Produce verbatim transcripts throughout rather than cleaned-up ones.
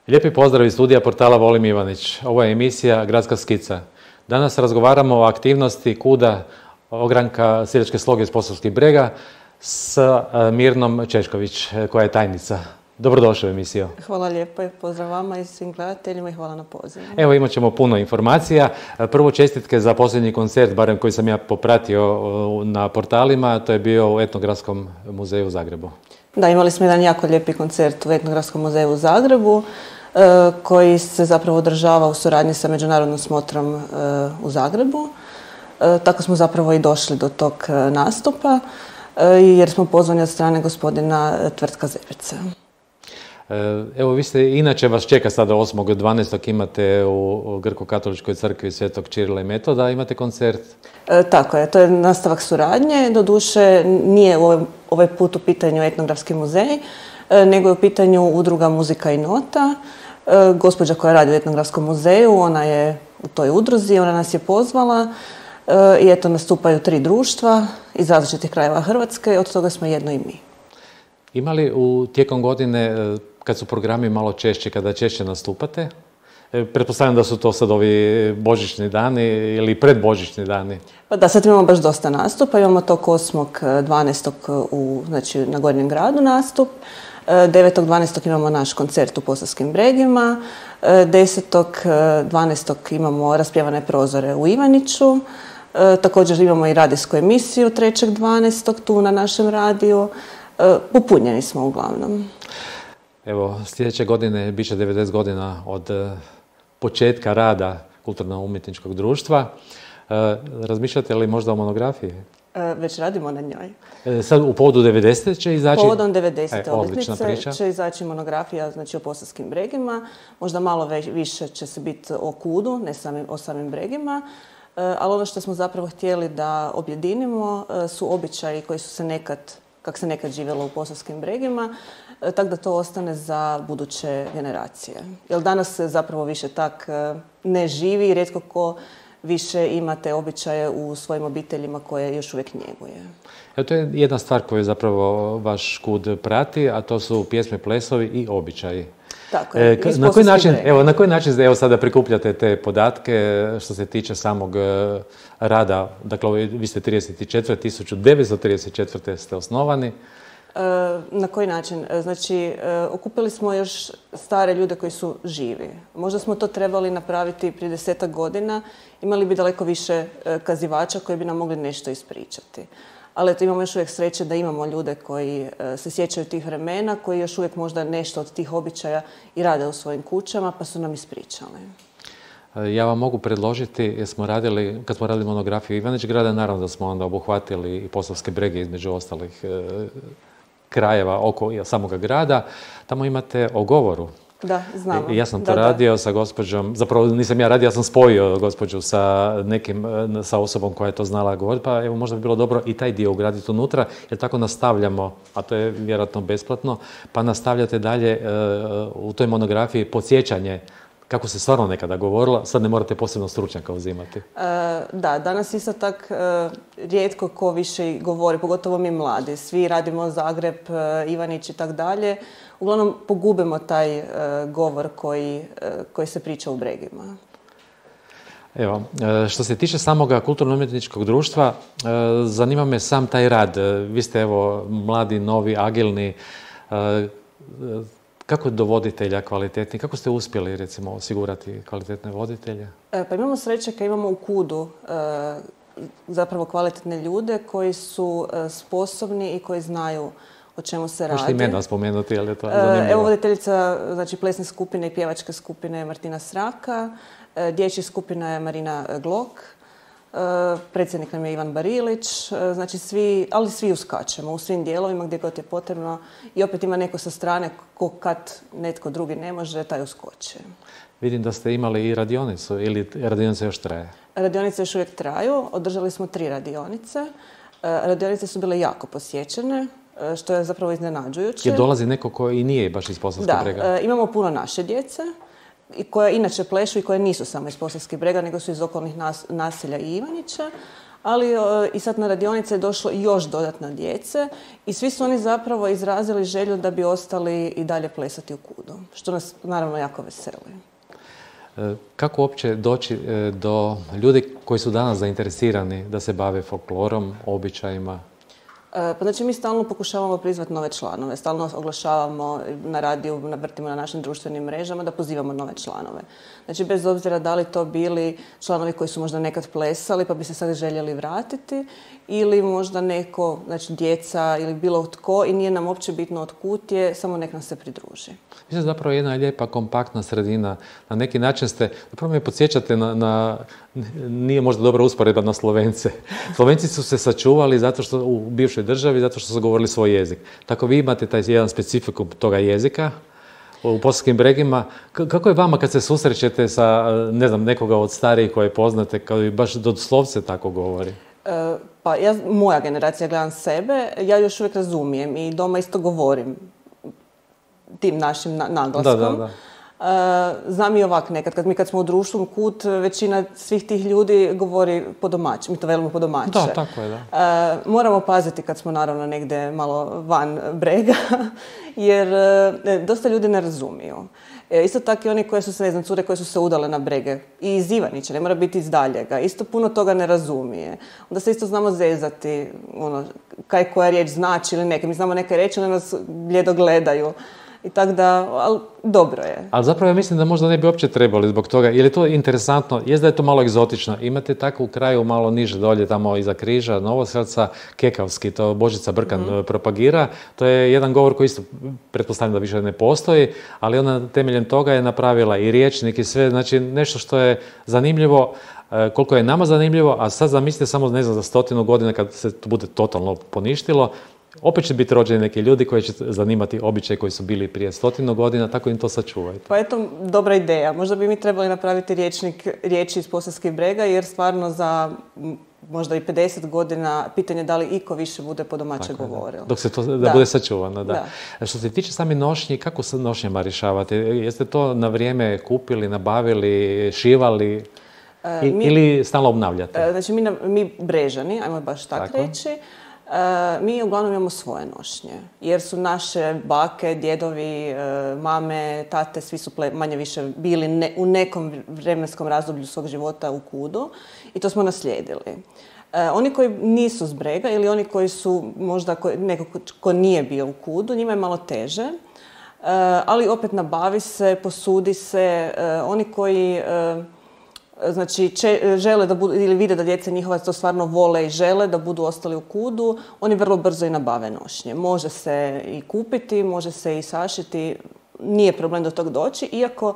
Lijepi pozdrav iz studija portala Volim Ivanić. Ovo je emisija Gradska skica. Danas razgovaramo o aktivnosti KUD-a Ogranka seljačke sloge iz Posavskih Brega s Mirnom Češković, koja je tajnica. Dobrodošli u emisiju. Hvala lijepo i pozdrav vama i svim gledateljima i hvala na pozivu. Evo, imat ćemo puno informacija. Prvo, čestitke za posljednji koncert, barem koji sam ja popratio na portalima, to je bio u Etnogradskom muzeju u Zagrebu. Da, imali smo jedan jako lijepi koncert u Etnogradskom muzeju u Zagrebu, koji se zapravo održava u suradnji sa Međunarodnom smotrom u Zagrebu. Tako smo zapravo i došli do tog nastupa, jer smo pozvani od strane gospodina Tvrtka Zeberca. Evo, vi ste, inače vas čeka sada osmog dvanaestog imate u Grko-katoličkoj crkvi Svetog Čirila i Metoda, imate koncert? E, tako je, to je nastavak suradnje. Doduše, nije ovaj, ovaj put u pitanju Etnografski muzej, e, nego je u pitanju udruga Muzika i nota. E, gospođa koja radi u Etnografskom muzeju, ona je u toj udruzi, ona nas je pozvala e, i eto nastupaju tri društva iz različitih krajeva Hrvatske, od toga smo jedno i mi. Ima li u tijekom godine, kad su programi malo češće, kada češće nastupate? Pretpostavljam da su to sad ovi božićni dani ili predbožićni dani. Pa da, sad imamo baš dosta nastupa. Imamo tog osmog dvanaestog u, znači, na Gornjem gradu nastup. devetog dvanaestog imamo naš koncert u Posavskim Bregima. desetog dvanaestog imamo raspjevane prozore u Ivaniću. Također imamo i radijsku emisiju trećeg dvanaestog tu na našem radiju. Popunjeni smo uglavnom. Evo, sljedeće godine bit će devedeset godina od početka rada kulturno-umjetničkog društva. Razmišljate li možda o monografiji? Već radimo na njoj. Sad u povodu devedesete će izaći? Povodom devedesete obljetnice će izaći monografija, znači o Posavskim Bregima. Možda malo više će se biti o KUD-u, ne samim, o samim Bregima. Ali ono što smo zapravo htjeli da objedinimo su običaji koji su se nekad, kako se nekad živjelo u Posavskim Bregima, tako da to ostane za buduće generacije. Jer danas se zapravo više tak ne živi, rijetko ko više ima te običaje u svojim obiteljima koje još uvijek njeguje. Evo, to je jedna stvar koju zapravo vaš KUD prati, a to su pjesme, plesovi i običaji. Tako je, e, na koji način, evo, na koji način evo, sada prikupljate te podatke što se tiče samog uh, rada? Dakle, vi ste trideset četvrte tisuća devetsto trideset četvrte ste osnovani. E, na koji način? Znači, e, okupili smo još stare ljude koji su živi. Možda smo to trebali napraviti prije desetak godina. Imali bi daleko više e, kazivača koji bi nam mogli nešto ispričati. Ali eto, imamo još uvijek sreće da imamo ljude koji e, se sjećaju tih vremena, koji još uvijek možda nešto od tih običaja i rade u svojim kućama, pa su nam ispričali. Ja vam mogu predložiti, jer smo radili, kad smo radili monografiju Ivanić grada, naravno da smo onda obuhvatili i Posavske Brege između ostalih e, krajeva oko samoga grada. Tamo imate o govoru. Da, znamo. Ja sam to da, radio da. sa gospođom, zapravo nisam ja radio, ja sam spojio gospođu sa nekim, sa osobom koja je to znala govoriti, pa evo možda bi bilo dobro i taj dio ugraditi unutra, jer tako nastavljamo, a to je vjerojatno besplatno, pa nastavljate dalje uh, u toj monografiji podsjećanje kako se stvarno nekada govorilo, sad ne morate posebno stručnjaka uzimati. E, da, danas isto tak e, rijetko ko više govori, pogotovo mi mladi. Svi radimo Zagreb, e, Ivanić i tak dalje. Uglavnom pogubimo taj e, govor koji, e, koji se priča u Bregima. Evo, što se tiče samoga kulturno-umjetničkog društva, zanima me sam taj rad. Vi ste evo mladi, novi, agilni. Kako do voditelja kvalitetni? Kako ste uspjeli, recimo, osigurati kvalitetne voditelje? E, pa imamo sreće kad imamo u KUD-u e, zapravo kvalitetne ljude koji su e, sposobni i koji znaju o čemu se radi. Možete imena spomenuti, ali je to zanimljivo. E, evo voditeljica, znači, plesne skupine i pjevačke skupine je Martina Sraka, e, dječja skupina je Marina Glok, predsjednik nam je Ivan Barilić, znači svi, ali svi uskačemo u svim dijelovima gdje god je potrebno i opet ima neko sa strane ko kad netko drugi ne može, taj uskoči. Vidim da ste imali i radionicu ili radionica još traje? Radionice još uvijek traju, održali smo tri radionice. Radionice su bile jako posjećene, što je zapravo iznenađujuće. Jer dolazi neko koji nije baš iz Posavskog Brega? Da, imamo puno naše djece. i koja inače plešu i koje nisu samo iz Posavskih Brega, nego su iz okolnih nas, naselja i Ivanjića. Ali i sad na radionice je došlo još dodatna djece i svi su oni zapravo izrazili želju da bi ostali i dalje plesati u kudu, što nas naravno jako veseli. Kako uopće doći do ljudi koji su danas zainteresirani da se bave folklorom, običajima? Pa znači mi stalno pokušavamo prizvati nove članove, stalno oglašavamo na radiju, vrtimo na našim društvenim mrežama da pozivamo nove članove. Znači bez obzira da li to bili članovi koji su možda nekad plesali pa bi se sad željeli vratiti ili možda neko, znači djeca ili bilo tko i nije nam uopće bitno od kud je, samo nek nam se pridruži. Vi ste zapravo jedna lijepa, kompaktna sredina. Na neki način ste, zapravo me podsjećate na, na, nije možda dobra usporedba na Slovence. Slovenci su se sačuvali zato što u bivšoj državi, zato što su govorili svoj jezik. Tako vi imate taj jedan specifikum toga jezika u Posavskim Bregima. Kako je vama kad se susrećete sa, ne znam, nekoga od starijih koje poznate, kao i baš doslovce tako govori? E, pa ja, moja generacija, gledam sebe, ja još uvijek razumijem i doma isto govorim tim našim naglaskom. Da, da, da. Uh, znam i ovak nekad, kad mi kad smo u društvu kut, većina svih tih ljudi govori po domaći, mi to velimo po domaće. Da, tako je, da. Uh, moramo paziti kad smo naravno negdje malo van brega, jer uh, dosta ljudi ne razumiju. E, isto tako i oni koje su se, ne znam, cure koje su se udale na brege. I iz Ivanića, ne mora biti iz daljega. Isto puno toga ne razumije. Onda se isto znamo zezati, ono, kaj koja riječ znači ili neke. Mi znamo neke reći, ali nas bljedo gledaju. I tako da, ali dobro je. Ali zapravo ja mislim da možda ne bi uopće trebali zbog toga, jer je to interesantno, jest da je to malo egzotično. Imate tako u kraju malo niže dolje, tamo iza Križa, Novoselca, Kekavski, to Božica Brkan mm. propagira. To je jedan govor koji isto, pretpostavljam da više ne postoji, ali ona temeljem toga je napravila i rječnik i sve, znači nešto što je zanimljivo, koliko je nama zanimljivo, a sad zamislite samo, ne znam, za stotinu godina kad se to bude totalno poništilo, opet će biti rođeni neki ljudi koji će zanimati običaje koji su bili prije stotinu godina, tako im to sačuvajte. Pa eto, dobra ideja. Možda bi mi trebali napraviti rječnik riječi iz Posavskih Brega, jer stvarno za možda i pedeset godina pitanje da li iko više bude po domaće govorilo. Dok se to da, da bude sačuvano, da. da. Što se tiče sami nošnji, kako se nošnjama rješavate? Jeste to na vrijeme kupili, nabavili, šivali I, mi, ili stalno obnavljate? Znači mi, mi Brežani, ajmo baš tak tako reći, Uh, mi uglavnom imamo svoje nošnje, jer su naše bake, djedovi, uh, mame, tate, svi su ple, manje više bili ne, u nekom vremenskom razdoblju svog života u kudu i to smo naslijedili. Uh, oni koji nisu s Brega ili oni koji su možda ko, neko ko nije bio u kudu, njima je malo teže, uh, ali opet nabavi se, posudi se, uh, oni koji uh, Znači, če, žele da budu, ili vide da djeca njihova to stvarno vole i žele da budu ostali u kudu, oni vrlo brzo i nabave nošnje. Može se i kupiti, može se i sašiti, nije problem do tog doći, iako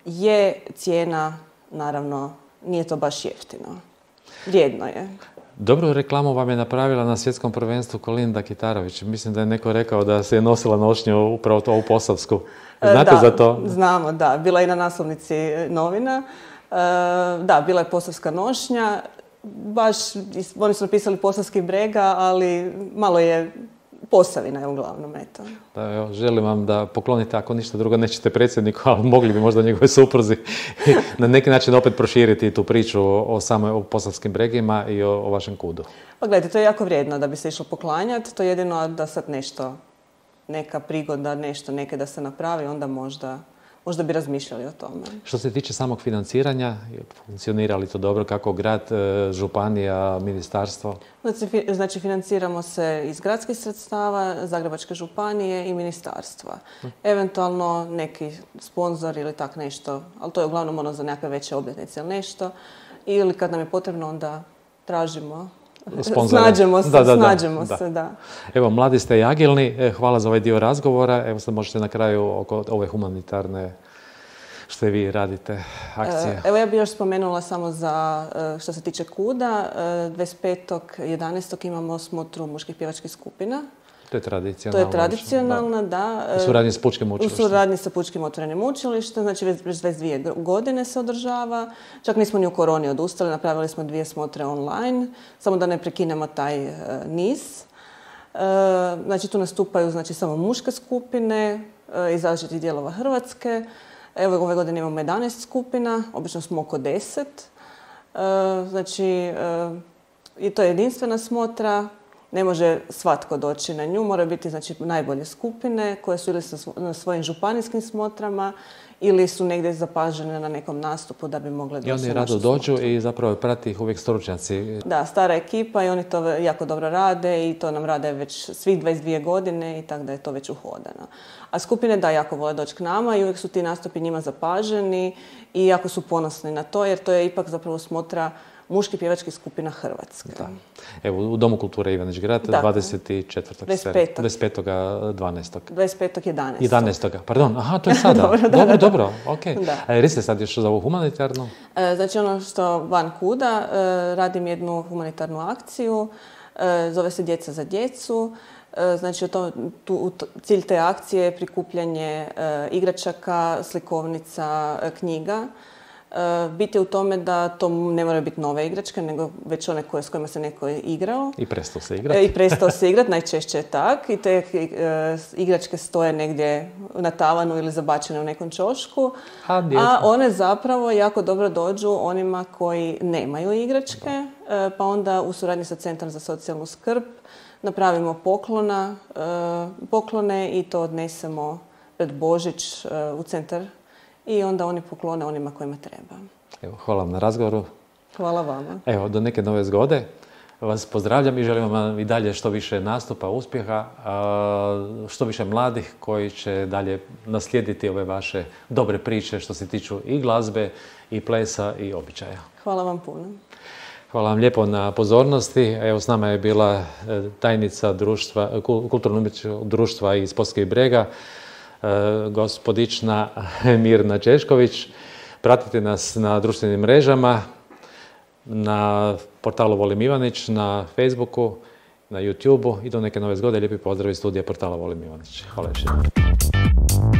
je cijena, naravno, nije to baš jeftino. Vrijedno je. Dobru reklamu vam je napravila na svjetskom prvenstvu Kolinda Kitarović. Mislim da je neko rekao da se je nosila nošnju upravo to u Posavsku. Znate da, za to? Znamo, da. Bila je i na naslovnici novina. Da, bila je posavska nošnja, baš, oni su napisali Posavskih Brega, ali malo je Posavina je uglavnom, eto. Da, evo, želim vam da poklonite, ako ništa drugo nećete predsjedniku, ali mogli bi možda njegove supruzi na neki način opet proširiti tu priču o samoj o Posavskim Bregima i o, o vašem kudu. Pa gledajte, to je jako vrijedno da bi se išlo poklanjati, to je jedino da sad nešto, neka prigoda, nešto neke da se napravi, onda možda... Možda bi razmišljali o tome. Što se tiče samog financiranja, funkcionira li to dobro? Kako grad, županija, ministarstvo? Znači, znači financiramo se iz gradskih sredstava, Zagrebačke županije i ministarstva. Hm. Eventualno neki sponzor ili tak nešto, ali to je uglavnom ono za nekakve veće obljetnice ili nešto. Ili kad nam je potrebno, onda tražimo. Sponzore. Snađemo se, da, da, snađemo da, se, da. da. Evo, mladi ste i agilni. Hvala za ovaj dio razgovora. Evo sad možete na kraju oko ove humanitarne, što vi radite, akcije. Evo ja bih još spomenula samo za što se tiče kuda. dvadeset petog jedanaestog imamo smotru muških pjevačkih skupina. To je tradicionalno. To je tradicionalna, da. da. U suradnji s Pučkim učilištem. U suradnji sa Pučkim otvorenim učilištem, znači već dvadeset dvije godine se održava. Čak nismo ni u koroni odustali, napravili smo dvije smotre online, samo da ne prekinemo taj uh, niz. Uh, znači tu nastupaju znači, samo muške skupine uh, iz različitih dijelova Hrvatske. Evo, ove godine imamo jedanaest skupina, obično smo oko deset. Znači, i to je jedinstvena smotra. Ne može svatko doći na nju, moraju biti znači, najbolje skupine koje su ili na svojim županijskim smotrama ili su negdje zapažene na nekom nastupu da bi mogle doći na našu I oni rado dođu i zapravo prati ih uvijek stručnjaci. Da, stara ekipa i oni to jako dobro rade i to nam rade već svih dvadeset dvije godine i tako da je to već uhodano. A skupine da jako vole doći k nama i uvijek su ti nastupi njima zapaženi i jako su ponosni na to jer to je ipak zapravo smotra muški pjevačkih skupina Hrvatske. Da. Evo, u Domu kulture Ivanić Grad, dvadeset četvrtog dvadeset petog dvanaestog dvadeset petog jedanaestog jedanaestog Pardon, aha, to je sada. dobro, da, dobro, da, dobro, ok. A jer ste sad još za ovu humanitarnu? E, znači ono što van kuda, e, radim jednu humanitarnu akciju, e, zove se Djeca za djecu. E, znači to, tu, cilj te akcije je prikupljanje e, igračaka, slikovnica, e, knjiga. Bit je u tome da to ne moraju biti nove igračke, nego već one koje, s kojima se neko igrao. I prestao se igrati. I prestao se igrati, najčešće je tak. I te e, igračke stoje negdje na tavanu ili zabačene u nekom ćošku. A, a one zapravo jako dobro dođu onima koji nemaju igračke. E, pa onda u suradnji sa Centrom za socijalnu skrb napravimo poklona, e, poklone i to odnesemo pred Božić e, u centar. I onda oni poklone onima kojima treba. Evo, hvala vam na razgovoru. Hvala vama. Evo, do neke nove zgode. Vas pozdravljam i želim vam i dalje što više nastupa, uspjeha, što više mladih koji će dalje naslijediti ove vaše dobre priče što se tiču i glazbe, i plesa, i običaja. Hvala vam puno. Hvala vam lijepo na pozornosti. Evo, s nama je bila tajnica društva, kulturno-umjetničkog društva iz Poskih Brega, gospodična Mirna Češković. Pratite nas na društvenim mrežama, na portalu Volim Ivanić, na Facebooku, na YouTubeu i do neke nove zgode. Lijepi pozdrav iz studija portala Volim Ivanić. Hvala još jednom.